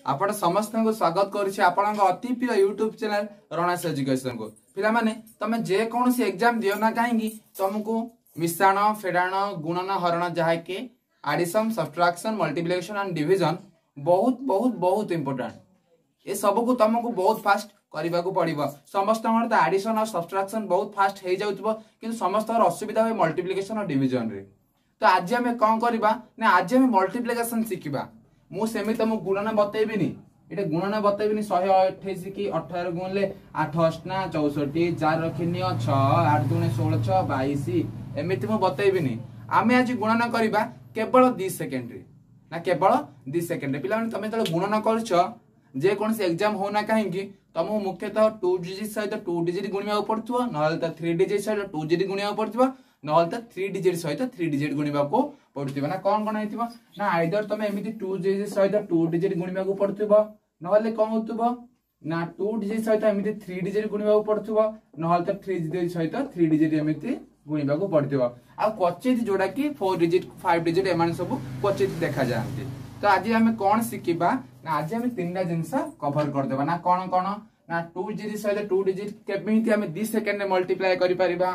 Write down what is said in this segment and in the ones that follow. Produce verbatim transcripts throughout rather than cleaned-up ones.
ଆପଣ ସମସ୍ତଙ୍କୁ ସ୍ୱାଗତ କରୁଛି ଆପଣଙ୍କ ଅତି ପ୍ରିୟ ୟୁଟ୍ୟୁବ ଚ୍ୟାନେଲ ରଣାସ ଏଜୁକେସନକୁ। ପିଲାମାନେ, ତମେ ଯେକୌଣସି ଏକ୍ଜାମ ଦିଅ ନା କାହିଁକି, ତମକୁ ମିଶାଣ, ଫେଡ଼ାଣ, ଗୁଣନ, ହରଣ, ଯାହାକି ଆଡିସନ, ସବଟ୍ରାକ୍ସନ, ମଲ୍ଟିପ୍ଲିକେସନ ଆଣ୍ଡ ଡିଭିଜନ ବହୁତ ବହୁତ ବହୁତ ଇମ୍ପୋର୍ଟାଣ୍ଟ। ଏ ସବୁକୁ ତମକୁ ବହୁତ ଫାଷ୍ଟ କରିବାକୁ ପଡିବ। ସମସ୍ତଙ୍କର ତ ଆଡିସନ ଆଉ ସବଟ୍ରାକ୍ସନ ବହୁତ ଫାଷ୍ଟ ହେଇଯାଉଥିବ, କିନ୍ତୁ ସମସ୍ତଙ୍କର ଅସୁବିଧା ହୁଏ ମଲ୍ଟିପ୍ଲିକେସନ ଆଉ ଡିଭିଜନରେ। ତ ଆଜି ଆମେ କଣ କରିବା ନା, ଆଜି ଆମେ ମଲ୍ଟିପ୍ଲିକେସନ ଶିଖିବା। ମୁଁ ସେମିତି ତମକୁ ଗୁଣନ ବତେଇବିନି, ଏଇଟା ଗୁଣନ ବତେଇବିନି। ଶହେ ଅଠେଇଶ କି ଅଠର ଗୁଣିଲେ ଆଠ ଅଷ୍ଟନା ଚଉଷଠି, ଚାରି ରଖି ନିଅ ଛଅ, ଆଠ ଦୁଣେ ଷୋହଳ, ଛଅ ବାଇଶ, ଏମିତି ମୁଁ ବତେଇବିନି। ଆମେ ଆଜି ଗୁଣନ କରିବା କେବଳ ଦି ସେକେଣ୍ଡରେ, ନା କେବଳ ଦି ସେକେଣ୍ଡରେ। ପିଲାମାନେ, ତମେ ଯେତେବେଳେ ଗୁଣନ କରୁଛ, ଯେକୌଣସି ଏକ୍ଜାମ ହଉନା କାହିଁକି, ତମକୁ ମୁଖ୍ୟତଃ ଟୁ ଡିଜିଟ୍ ସହିତ ଟୁ ଡିଜିଟ୍ ଗୁଣିବାକୁ ପଡୁଥିବ, ନହେଲେ ତ ଥ୍ରୀ ଡିଜିଟ୍ ସହିତ ଟୁ ଡିଜିଟ୍ ଗୁଣିବାକୁ ପଡୁଥିବ, ନହେଲେ ତ ଥ୍ରୀ ଡିଜିଟ୍ ସହିତ ଥ୍ରୀ ଡିଜିଟ୍ ଗୁଣିବାକୁ ପଡୁଥିବ। ନା କଣ କଣ ହେଇଥିବ ନା, ଆଇଦର ତମେ ଏମିତି ଟୁ ଡିଜିଟ୍ ସହିତ ଟୁ ଡିଜିଟ୍ ଗୁଣିବାକୁ ପଡୁଥିବ, ନହେଲେ କଣ ହଉଥିବ ନା ଟୁ ଡିଜିଟ୍ ସହିତ ଏମିତି ଥ୍ରୀ ଡିଜିଟ୍ ଗୁଣିବାକୁ ପଡୁଥିବ, ନହେଲେ ତ ଥ୍ରୀ ଡିଜିଟ୍ ସହିତ ଥ୍ରୀ ଡିଜିଟ୍ ଏମିତି ଗୁଣିବାକୁ ପଡୁଥିବ। ଆଉ କ୍ୱଚିତ ଯୋଉଟା କି ଫୋର ଡିଜିଟ୍, ଫାଇଭ ଡିଜିଟ୍, ଏମାନେ ସବୁ କ୍ୱଚିତ ଦେଖାଯାଆନ୍ତି। ତ ଆଜି ଆମେ କଣ ଶିଖିବା ନା, ଆଜି ଆମେ ତିନିଟା ଜିନିଷ କଭର କରିଦେବା। ନା କଣ କଣ ନା, ଟୁ ଡିଜିଟ୍ ସହିତ ଟୁ ଡିଜିଟ୍ କେମିତି ଆମେ ଦି ସେକେଣ୍ଡରେ ମଲ୍ଟିପ୍ଲାଏ କରିପାରିବା,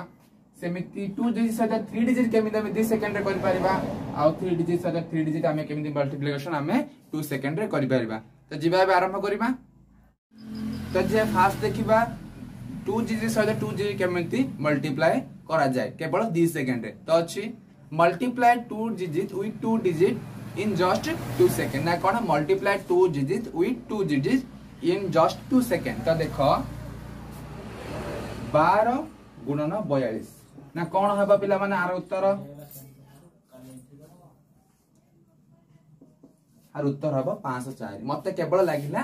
ସେମିତି ଟୁ ଡିଜିଟ୍ ସହିତ ଥ୍ରୀ ଡିଜିଟ୍ କେମିତି ଆମେ ଦି ସେକେଣ୍ଡରେ କରିପାରିବା, ଆଉ ଥ୍ରୀ ଡିଜିଟ୍ ସହିତ ଥ୍ରୀ ଡିଜିଟ୍ ଆମେ କେମିତି ମଲ୍ଟିପ୍ଲିକେସନ ଆମେ ଟୁ ସେକେଣ୍ଡରେ କରିପାରିବା। ତ ଯିବା, ଏବେ ଆରମ୍ଭ କରିବା। ତ ଯେ ଫାଷ୍ଟ ଦେଖିବା ଟୁ ଡିଜିଟ୍ ସହିତ ଟୁ ଡିଜିଟ୍ କେମିତି ମଲ୍ଟିପ୍ଲାଏ କରାଯାଏ କେବଳ ଦି ସେକେଣ୍ଡରେ। ତ ଅଛି multiply two digit with two digit in just two second. ନା କଣ? Multiply two digit with two digit in just two second. ତ ଦେଖ, ବାର ଗୁଣନ ବୟାଳିଶ, ନା କଣ ହେବ ପିଲାମାନେ ଆର ଉତ୍ତର? ଆର ଉତ୍ତର ହବ ପାଞ୍ଚଶହ ଚାରି। ମତେ କେବଳ ଲାଗିଲା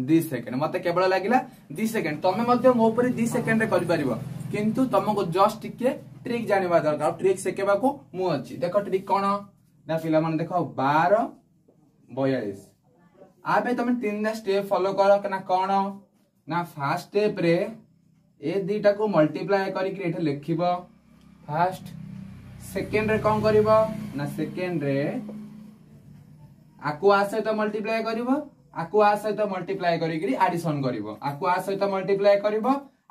ଦି ସେକେଣ୍ଡ, ମତେ କେବଳ ଲାଗିଲା ଦି ସେକେଣ୍ଡ। ତମେ ମଧ୍ୟ ମୋ ଉପରେ ଦି ସେକେଣ୍ଡରେ କରିପାରିବ, କିନ୍ତୁ ତମକୁ ଜଷ୍ଟ ଟିକେ ଟ୍ରିକ୍ ଜାଣିବା ଦରକାର, ଆଉ ଟ୍ରିକ୍ ଶିଖେଇବାକୁ ମୁଁ ଅଛି। ଦେଖ ଟ୍ରିକ୍ କଣ ନା ପିଲାମାନେ, ଦେଖ ବାର ବୟାଳିଶ, ଆ ପାଇଁ ତମେ ତିନିଟା ଷ୍ଟେପ ଫଲୋ କର। ନା କଣ ନା, ଫାର୍ଷ୍ଟ ଷ୍ଟେପ ରେ ଏ ଦିଟାକୁ ମଲ୍ଟିପ୍ଲାଏ କରିକି ଏଠି ଲେଖିବ ଫାର୍ଷ୍ଟ। ସେକେଣ୍ଡରେ କଣ କରିବ ନା, ସେକେଣ୍ଡରେ ଆକୁ ଆ ସହିତ ମଲ୍ଟିପ୍ଲାଏ କରିବ, ଆକୁ ଆ ସହିତ ମଲ୍ଟିପ୍ଲାଏ କରିକିରି ଆଡିସନ କରିବ, ଆକୁ ଆ ସହିତ ମଲ୍ଟିପ୍ଲାଏ କରିବ,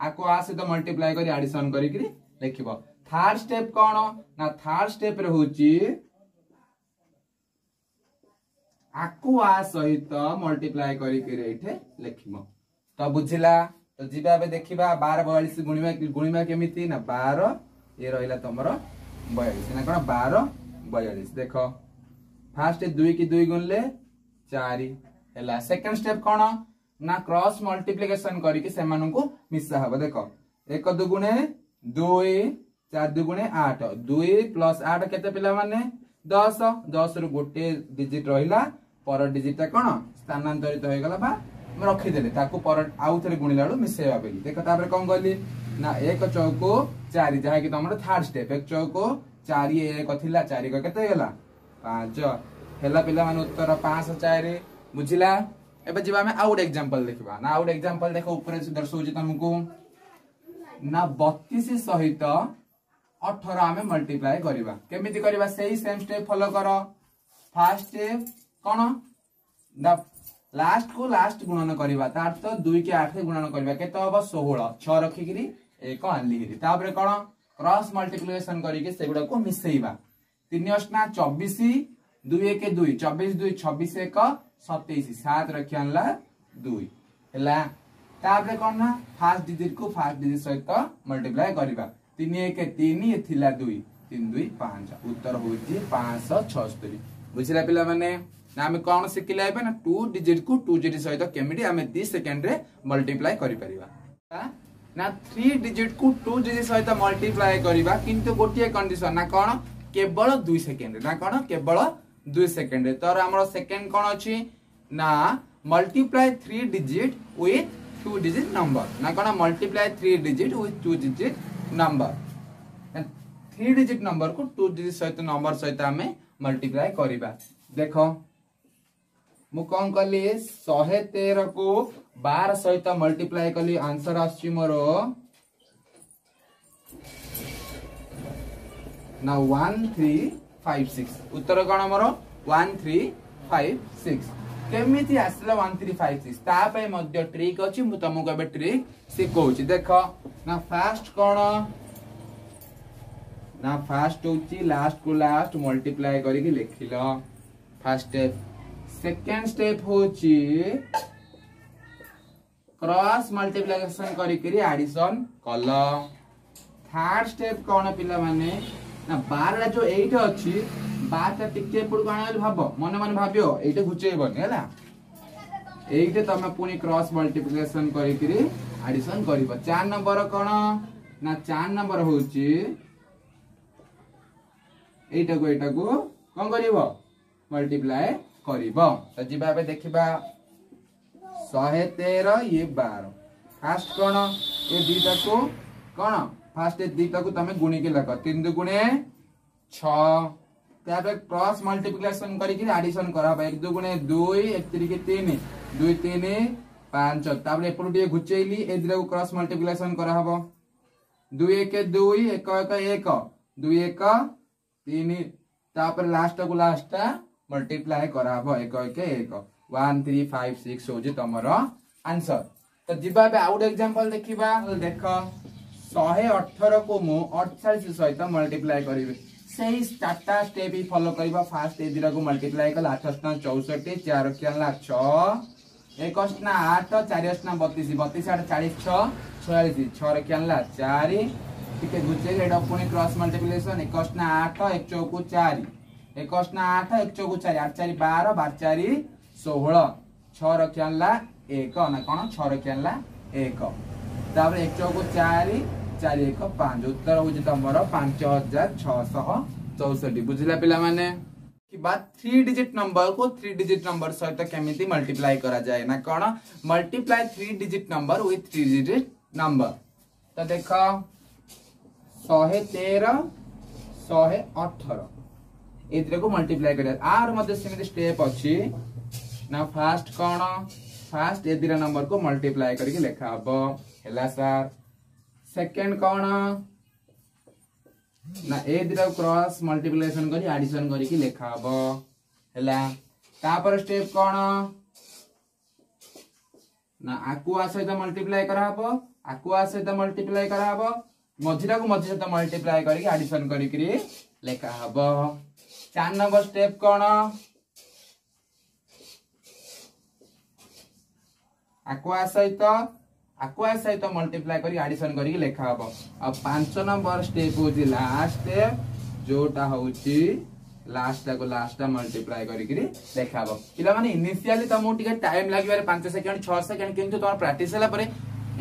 ଆକୁ ଆ ସହିତ ମଲ୍ଟିପ୍ଲାଏ କରି ଆଡିସନ କରିକିରି ଲେଖିବ। ଥାର୍ଡ ଷ୍ଟେପ କଣ ନା, ଥାର୍ଡ ଷ୍ଟେପ ରେ ହଉଛି ଆକୁ ଆ ସହିତ ମଲ୍ଟିପ୍ଲାଏ କରିକିରି ଏଇଠି ଲେଖିବ। ତ ବୁଝିଲା? ତ ଯିବା ଏବେ ଦେଖିବା ବାର ବୟାଳିଶ ଗୁଣିବା ଗୁଣିବା କେମିତି। ନା ବାର ଇଏ ରହିଲା ତମର ବୟାଳିଶ, ନା କଣ ବାର ବୟାଳିଶ। ଦେଖ, ଫାର୍ଷ୍ଟ ଦୁଇ କି ଦୁଇ ଗୁଣିଲେ ଚାରି ହେଲା। ସେକେଣ୍ଡ ଷ୍ଟେପ କଣ ନା, କ୍ରସ୍ ମଲ୍ଟିପ୍ଲିକେସନ କରିକି ସେମାନଙ୍କୁ ମିଶା ହବ। ଦେଖ, ଏକ ଦୁଗୁଣେ ଦୁଇ, ଚାରି ଦୁଗୁଣେ ଆଠ, ଦୁଇ ପ୍ଲସ ଆଠ କେତେ ପିଲାମାନେ? ଦଶ। ଦଶ ରୁ ଗୋଟିଏ ଡିଜିଟ ରହିଲା, ପର ଡିଜିଟ ଟା କଣ ସ୍ଥାନାନ୍ତରିତ ହେଇଗଲା ବା ରଖିଦେଲେ ତାକୁ ପର ଆଉ ଥରେ ଗୁଣିଲା ବେଳକୁ ମିଶେଇବା ବୋଲି। ଦେଖ ତାପରେ କଣ କଲି ନା, ଏକ ଚଉକୁ ଚାରି, ଯାହାକି ତମର ଥାର୍ଡ ଷ୍ଟେପ। ଏକ ଚଉକୁ ଚାରି, ଏକ ଥିଲା, ଚାରି ଏକ କେତେ ହେଇଗଲା? ପାଞ୍ଚ ହେଲା ପିଲାମାନେ, ଉତ୍ତର ପାଞ୍ଚଶହ ଚାରି। ବୁଝିଲା? ଏବେ ଯିବା ଆମେ ଆଉ ଗୋଟେ ଏକ୍ଜାମ୍ପଲ ଦେଖିବା। ନା ଆଉ ଗୋଟେ ଏକ୍ଜାମ୍ପଲ ଦେଖ, ଉପରେ ଦର୍ଶଉଛି ତମକୁ ନା ବତିଶ ସହିତ ଅଠର ଆମେ ମଲ୍ଟିପ୍ଲାଏ କରିବା। କେମିତି କରିବା? ସେଇ ସେମ୍ ଷ୍ଟେପ ଫଲୋ କର। ଫାର୍ଷ୍ଟ ଷ୍ଟେପ କଣ ନା, ଲାଷ୍ଟ କୁ ଲାଷ୍ଟ ଗୁଣନ କରିବା, ତା ଅର୍ଥ ଦୁଇ କି ଆଠ ଗୁଣନ କରିବା, କେତେ ହବ? ଷୋହଳ, ଛଅ ରଖିକିରି ଏକ ଆଣିଲିକିରି। ତାପରେ କଣ, କ୍ରସ୍ ମଲ୍ଟିପ୍ଲିକେସନ କରିକି ସେଗୁଡାକୁ ମିଶେଇବା। ତିନି ଅଷ୍ଟନା ଚବିଶ, ଦୁଇ ଏକ ଦୁଇ, ଚବିଶ ଦୁଇ ଛବିଶ, ଏକ ସତେଇଶ, ସାତ ରଖି ଆଣିଲା ଦୁଇ ହେଲା। ତାପରେ କଣ ନା, ଫାର୍ଷ୍ଟ ଡିଜିଟ କୁ ଫାର୍ଷ୍ଟ ଡିଜିଟ ସହିତ ମଲ୍ଟିପ୍ଲାଏ କରିବା। ତିନି ଏକ ତିନି, ଥିଲା ଦୁଇ, ତିନି ଦୁଇ ପାଞ୍ଚ, ଉତ୍ତର ହଉଛି ପାଞ୍ଚଶହ ଛଅସ୍ତରୀ। ବୁଝିଲା ପିଲାମାନେ? ନା ଆମେ କଣ ଶିଖିଲେ ଏବେ ନା, ଟୁ ଡିଜିଟ କୁ ଟୁ ଡିଜିଟ ସହିତ କେମିତି ଆମେ ଦି ସେକେଣ୍ଡରେ ମଲ୍ଟିପ୍ଲାଏ କରିପାରିବା। ନା ଥ୍ରୀ ଡିଜିଟ କୁ ଟୁ ଡିଜିଟ ସହିତ ମଲ୍ଟିପ୍ଲାଏ କରିବା, କିନ୍ତୁ ଗୋଟିଏ କଣ୍ଡିସନ। ନା କଣ? କେବଳ ଦୁଇ ସେକେଣ୍ଡରେ। ନା କଣ? କେବଳ ଦୁଇ ସେକେଣ୍ଡରେ। ତର ଆମର ସେକେଣ୍ଡ କଣ ଅଛି ନା, multiply three digit with two digit number. ନା କଣ? Multiply three digit with two digit number. Three digit number କୁ ଟୁ ଡିଜିଟ ସହିତ ନମ୍ବର ସହିତ ଆମେ ମଲ୍ଟିପ୍ଲାଏ କରିବା। ଦେଖ ମୁଁ କଣ କଲି, ଶହେ ତେର କୁ ବାର ସହିତ ମଲ୍ଟିପ୍ଲାଏ କଲି, ଆନ୍ସର ଆସୁଛି ମୋର ନା ୱାନ୍ ଥ୍ରୀ ଫାଇଭ ସିକ୍ସ। ଉତ୍ତର କଣ ମୋର? One three five six. କେମିତି ଆସିଲା ୱାନ୍ ଥ୍ରୀ ଫାଇଭ ସିକ୍ସ ତା ପାଇଁ ମଧ୍ୟ ଟ୍ରିକ୍ ଅଛି ମୁଁ ତମକୁ ଏବେ ଟ୍ରିକ୍ ଶିଖଉଛି ଦେଖ ନା ଫାଷ୍ଟ କଣ ନା ଫାଷ୍ଟ ହଉଛି ଲାଷ୍ଟ କୁ ଲାଷ୍ଟ ମଲ୍ଟିପ୍ଲାଏ କରିକି ଲେଖିଲ ଫାଷ୍ଟ ଷ୍ଟେପ ସେକେଣ୍ଡ ଷ୍ଟେପ ହଉଛି କ୍ରସ୍ ମଲ୍ଟିପ୍ଲିକେସନ କରିକିରି ଆଡିସନ କଲ ଥାର୍ଡ ଷ୍ଟେପ କଣ ପିଲାମାନେ ନା ବାରଟା ଯୋଉ ଏଇଠି ଅଛି ବାରଟା ଟିକେ ଏପଟକୁ ଆଣିବ ବୋଲି ଭାବ ମନେ ମନେ ଭାବିବ ଏଇଟା ଘୁଚେଇବନି ହେଲା ଏଇଠି ତମେ ପୁଣି କ୍ରସ୍ ମଲ୍ଟିପ୍ଲିକେସନ କରିକିରି ଆଡିସନ କରିବ ଚାର ନମ୍ବର କଣ ନା ଚାର ନମ୍ବର ହଉଛି ଏଇଟାକୁ ଏଇଟାକୁ କଣ କରିବ ମଲ୍ଟିପ୍ଲାଏ କରିବ ତ ଯିବା ଏବେ ଦେଖିବା ଶହେ ତେର ଇଏ ବାର ଫାଷ୍ଟ କଣ ଏ ଦିଟାକୁ କଣ ଫାଷ୍ଟ ଏ ଦିଟାକୁ ତମେ ଗୁଣିକି ଲେଖ ତିନି ଦୁଗୁଣେ ଛଅ ତାପରେ କ୍ରସ୍ ମଲ୍ଟିପ୍ଲିକେସନ କରିକି ଆଡିସନ କରାହବ ଏକ ଦୁଗୁଣେ ଦୁଇ ଏକ ତିରିକି ତିନି ଦୁଇ ତିନି ପାଞ୍ଚ ତାପରେ ଏପଟୁ ଟିକେ ଘୁଚେଇଲି ଏ ଦିଟାକୁ କ୍ରସ୍ ମଲ୍ଟିପ୍ଲିକେସନ କରାହବ ଦୁଇ ଏକ ଦୁଇ ଏକ ଏକ ଏକ ଦୁଇ ଏକ ତିନି ତାପରେ ଲାଷ୍ଟକୁ ଲାଷ୍ଟଟା ମଲ୍ଟିପ୍ଲାଏ କରାହବ ଏକ ଏକ ଏକ ୱାନ୍ ଥ୍ରୀ ଫାଇଭ ସିକ୍ସ ହଉଛି ତମର ଆନ୍ସର ତ ଯିବା ଏବେ ଆଉ ଗୋଟେ ଏକ୍ସାମ୍ପଲ ଦେଖିବା ଦେଖ ଶହେ ଅଠରକୁ ମୁଁ ଅଠଚାଳିଶ ସହିତ ମଲ୍ଟିପ୍ଲାଏ କରିବି ସେଇ ଚାରିଟା ଷ୍ଟେପ୍ ହିଁ ଫଲୋ କରିବା ଫାଷ୍ଟ ଏ ଦିଟାକୁ ମଲ୍ଟିପ୍ଲାଏ କଲେ ଆଠ ଅଷ୍ଟା ଚଉଷଠି ଚାରି ରଖି ଆଣିଲା ଛଅ ଏକ ଅଷ୍ଟା ଆଠ ଚାରି ଅଷ୍ଟା ବତିଶ ବତିଶ ଆଠ ଚାଳିଶ ଛଅ ଛୟାଳିଶ ଛଅ ରଖି ଆଣିଲା ଚାରି ଟିକେ ଘୁଚେଇକି ଏଇଟା ପୁଣି କ୍ରସ୍ ମଲ୍ଟିପ୍ଲିକେସନ ଏକ ଅଷ୍ଟା ଆଠ ଏକ ଚଉକୁ ଚାରି ଏକ ଅଷ୍ଟା ଆଠ ଏକ ଚଉକୁ ଚାରି ଆଠ ଚାରି ବାର ବାର ଚାରି ଷୋହଳ ଛଅ ରଖି ଆଣିଲା ଏକ ନା କଣ ଛଅ ରଖି ଆଣିଲା ଏକ ତାପରେ ଏକ ଚଉକୁ ଚାରି ଚାରି ଏକ ପାଞ୍ଚ ଉତ୍ତର ହଉଛି ତମର ପାଞ୍ଚ ହଜାର ଛଅଶହ ଚଉଷଠି ବୁଝିଲା ପିଲାମାନେ କିବା ଥ୍ରୀ ଡିଜିଟ ନମ୍ବର କୁ ଥ୍ରୀ ଡିଜିଟ ନମ୍ବର ସହିତ କେମିତି ମଲ୍ଟିପ୍ଲାଏ କରାଯାଏ ନା କଣ multiply three digit number with three digit number ତ ଦେଖ ଶହେ ତେର ଶହେ ଅଠର ଏଇଥିରକୁ ମଲ୍ଟିପ୍ଲାଏ କରିବା ଆର ମଧ୍ୟ ସେମିତି ଷ୍ଟେପ ଅଛି ନା ଫାଷ୍ଟ କଣ ଫାଷ୍ଟ ଏ ଦିଟା ନମ୍ବରକୁ ମଲ୍ଟିପ୍ଲାଏ କରିକି ଲେଖା ହବ ହେଲା ସାର୍ ସେକେଣ୍ଡ କଣ ନା ଏ ଦିଟାକୁ କ୍ରସ୍ ମଲ୍ଟିପ୍ଲିକେସନ କରି ଆଡିସନ କରିକି ଲେଖା ହବ ହେଲା ତାପରେ ଷ୍ଟେପ କଣ ନା ଆକୁ ଆ ସହିତ ମଲ୍ଟିପ୍ଲାଏ କରାହବ ଆକୁ ଆ ସହିତ ମଲ୍ଟିପ୍ଲାଏ କରାହବ ମଝିଟାକୁ ମଝି ସହିତ ମଲ୍ଟିପ୍ଲାଏ କରିକି ଆଡିସନ କରିକିରି ଲେଖା ହବ ଚାରି ନମ୍ବର ଷ୍ଟେପ କଣ ଆକୁ ଆ ସହିତ ଆକୁ ଆ ସହିତ ମଲ୍ଟିପ୍ଲାଏ କରି ଆଡିସନ କରିକି ଲେଖା ହବ ଆଉ ପାଞ୍ଚ ନମ୍ବର ଷ୍ଟେପ ହଉଛି ଲାଷ୍ଟ ଷ୍ଟେପ ଯୋଉଟା ହଉଛି ଲାଷ୍ଟଟାକୁ ଲାଷ୍ଟଟା ମଲ୍ଟିପ୍ଲାଏ କରିକିରି ଲେଖା ହବ ପିଲାମାନେ ଇନିସିଆଲି ତମକୁ ଟିକେ ଟାଇମ ଲାଗିବାରେ ପାଞ୍ଚ ସେକେଣ୍ଡ ଛଅ ସେକେଣ୍ଡ କିନ୍ତୁ ତମର ପ୍ରାକ୍ଟିସ ହେଲା ପରେ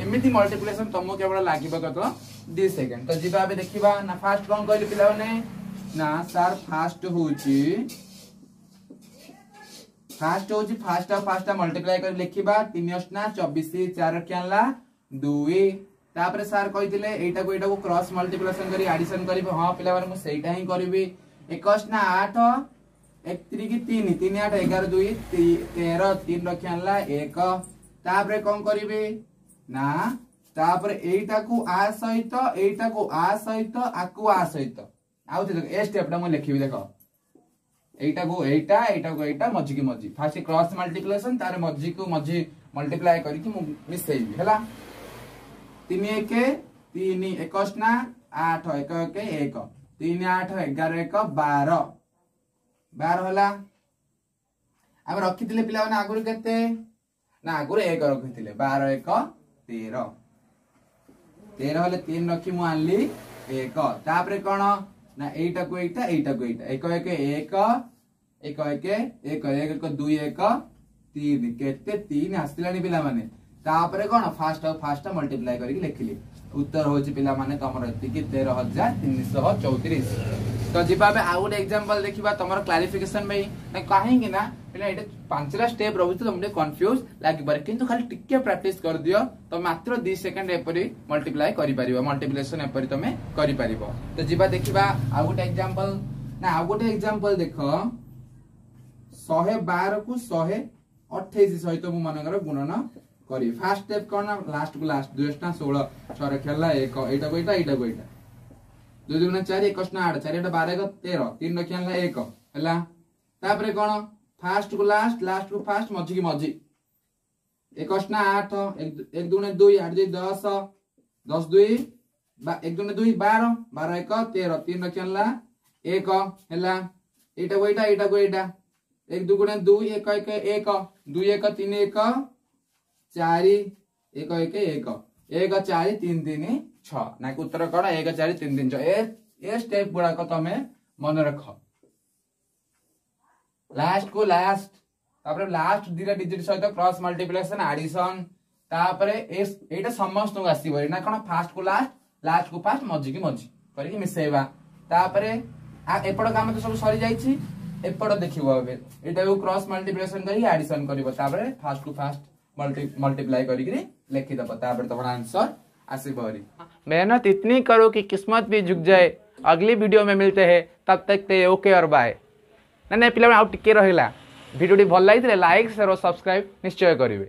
ଏମିତି ମଲ୍ଟିପ୍ଲିକେସନ ତମକୁ କେବଳ ଲାଗିବ କେତେ ଦି ସେକେଣ୍ଡ ତ ଯିବା ଏବେ ଦେଖିବା ନା ଫାଷ୍ଟ କଣ କହିଲି ପିଲାମାନେ ନା ସାର୍ ଫାଷ୍ଟ ହଉଛି ଫାଷ୍ଟ ହଉଛି ଫାଷ୍ଟ ଆଉ ଫାଷ୍ଟ ମଲ୍ଟିପ୍ଲାଏ କରି ଲେଖିବା ତିନି ଅଷ୍ଟା ଚବିଶ ଚାରି ରଖି ଆଣିଲା ଦୁଇ ତାପରେ ସାର୍ କହିଥିଲେ ଏଇଟାକୁ ଏଇଟାକୁ କ୍ରସ୍ ମଲ୍ଟିପ୍ଲିକେସନ କରି ଆଡିସନ କରିବି ହଁ ପିଲାମାନେ ମୁଁ ସେଇଟା ହିଁ କରିବି ଏକ ଅଷ୍ଟା ଆଠ ଏକ ତିରିକି ତିନି ତିନି ଆଠ ଏଗାର ଦୁଇ ତେର ତିନି ରଖି ଆଣିଲା ଏକ ତାପରେ କଣ କରିବି ନା ତାପରେ ଏଇଟାକୁ ଆ ସହିତ ଏଇଟାକୁ ଆ ସହିତ ଆକୁ ଆ ସହିତ ଆଉ ଦେଖ ଏ ଷ୍ଟେପଟା ମୁଁ ଲେଖିବି ଦେଖ ଏଇଟାକୁ ଏଇଟା ଏଇଟାକୁ ଏଇଟା ମଝିକି ମଝି ଫାଷ୍ଟ କ୍ରସ୍ ମଲ୍ଟିପ୍ଲିକେସନ ତାର ମଝିକୁ ମଝି ମଲ୍ଟିପ୍ଲାଏ କରିକି ମୁଁ ମିଶେଇବି ହେଲା ତିନି ଏକ ତିନି ଏକ ଅଷ୍ଟା ଆଠ ଏକ ଏକ ଏକ ତିନି ଆଠ ଏଗାର ଏକ ବାର ବାର ହେଲା ଆମେ ରଖିଥିଲେ ପିଲାମାନେ ଆଗରୁ କେତେ ନା ଆଗରୁ ଏକ ରଖିଥିଲେ ବାର ଏକ ତେର ତେର ହେଲେ ତିନି ରଖି ମୁଁ ଆଣିଲି ଏକ ତାପରେ କଣ ନା ଏଇଟାକୁ ଏଇଟା ଏଇଟାକୁ ଏଇଟା ଏକ ଏକ ଏକ ଏକ ଏକ ଏକ ଏକ ଏକ ଦୁଇ ଏକ ତିନି କେତେ ତିନି ଆସିଲାଣି ପିଲାମାନେ ତାପରେ କଣ ଫାଷ୍ଟ ଆଉ ଫାଷ୍ଟ ମଲ୍ଟିପ୍ଲାଏ କରିକି ଲେଖିଲି ଉତ୍ତର ହଉଛି ପିଲାମାନେ ତମର ଏତିକି ତେର ହଜାର ତିନିଶହ ଚଉତିରିଶ ତ ଯିବା ଏବେ ଆଉ ଗୋଟେ ଏକ୍ସାମ୍ପଲ ଦେଖିବା ତମର କ୍ଲାରିଫିକେସନ ପାଇଁ ନା କାହିଁକି ନା ପିଲା ଏଇଟା ପାଞ୍ଚଟା ଷ୍ଟେପ ରହୁଛି ତମକୁ ଟିକେ କନଫ୍ୟୁଜ ଲାଗିପାରେ କିନ୍ତୁ ଖାଲି ଟିକେ ପ୍ରାକ୍ଟିସ କରିଦିଅ ତମେ ମାତ୍ର ଦି ସେକେଣ୍ଡ ଏପରି ମଲ୍ଟିପ୍ଲାଏ କରିପାରିବ ମଲ୍ଟିପ୍ଲିକେସନ ଏପରି ତମେ କରିପାରିବ ତ ଯିବା ଦେଖିବା ଆଉ ଗୋଟେ ଏକ୍ସାମ୍ପଲ ନା ଆଉ ଗୋଟେ ଏକ୍ସାମ୍ପଲ ଦେଖ ଶହେ ବାରକୁ ଶହେ ଅଠେଇଶ ସହିତ ମୁଁ ମନେକର ଗୁଣନ କରିବି ଫାଷ୍ଟ ଷ୍ଟେପ କଣ ନା ଲାଷ୍ଟକୁ ଲାଷ୍ଟ ଦୁଇ ଅଷ୍ଟା ଷୋହଳ ଛଅ ରଖି ହେଲା ଏକ ଏଇଟାକୁ ଏଇଟା ଏଇଟାକୁ ଏଇଟା ଦୁଇ ଦୁଗୁଣ ଚାରି ଏକ ଅଷ୍ଟା ଆଠ ଚାରି ଆଠ ବାର ଏକ ତେର ତିନି ରଖି ଆଣିଲା ଏକ ହେଲା ତାପରେ କଣ ଫାଷ୍ଟ କୁ ଲାଷ୍ଟ ଲାଷ୍ଟ କୁ ଫାଷ୍ଟ ମଝି କି ମଝି ଏକ ଅଷ୍ଟା ଆଠ ଏକ ଏକ ଦୁଣେ ଦୁଇ ଆଠ ଦୁଇ ଦଶ ଦଶ ଦୁଇ ବା ଏକ ଦୁଣେ ଦୁଇ ବାର ବାର ଏକ ତେର ତିନି ରଖି ଆଣିଲା ଏକ ହେଲା ଏଇଟାକୁ ଏଇଟା ଏଇଟାକୁ ଏଇଟା ଏକ ଦୁଇ ଗୁଣେ ଦୁଇ ଏକ ଏକ ଏକ ଦୁଇ ଏକ ତିନି ଏକ ଚାରି ଏକ ଏକ ଏକ ଏକ ଚାରି ତିନି ତିନି ଛଅ ନା କି ଉତ୍ତର କଣ ଏକ ଚାରି ତିନି ତିନି ଛଅ ଏ ଏ ଷ୍ଟେପ ଗୁଡାକ ତମେ ମନେ ରଖ ଲାଷ୍ଟ କୁ ଲାଷ୍ଟ ତାପରେ ଲାଷ୍ଟ ଦିଟା ଡିଜିଟ ସହିତ କ୍ରସ୍ ମଲ୍ଟିପ୍ଲିକେସନ ଆଡିସନ ତାପରେ ଏଇଟା ସମସ୍ତଙ୍କୁ ଆସିବ ନା କଣ ଫାଷ୍ଟ କୁ ଲାଷ୍ଟ ଲାଷ୍ଟ କୁ ଫାଷ୍ଟ ମଝି କି ମଝି କରିକି ମିଶେଇବା ତାପରେ ଏପଟ କାମ ତ ସବୁ ସରିଯାଇଛି ଏପଟ ଦେଖିବ ଏବେ ଏଇଟାକୁ କ୍ରସ୍ ମଲ୍ଟିପ୍ଲିକେସନ କରିକି ଆଡିସନ କରିବ ତାପରେ ଫାଷ୍ଟ କୁ ଫାଷ୍ଟ ମଲ୍ଟିପ୍ଲାଏ କରିକି ଲେଖିଦବ ତାପରେ ତମର ଆନ୍ସର ଆସିବ ହରି मेहनत इतनी करो कि किस्मत भी झुक जाए अगली वीडियो में मिलते हैं तब तक ते ओके और बाय ନା ନାଇଁ ପିଲାମାନେ ଆଉ ଟିକେ ରହିଲା ଭିଡ଼ିଓଟି ଭଲ ଲାଗିଥିଲେ ଲାଇକ୍ ସେୟାର ଓ ସବସ୍କ୍ରାଇବ୍ ନିଶ୍ଚୟ କରିବେ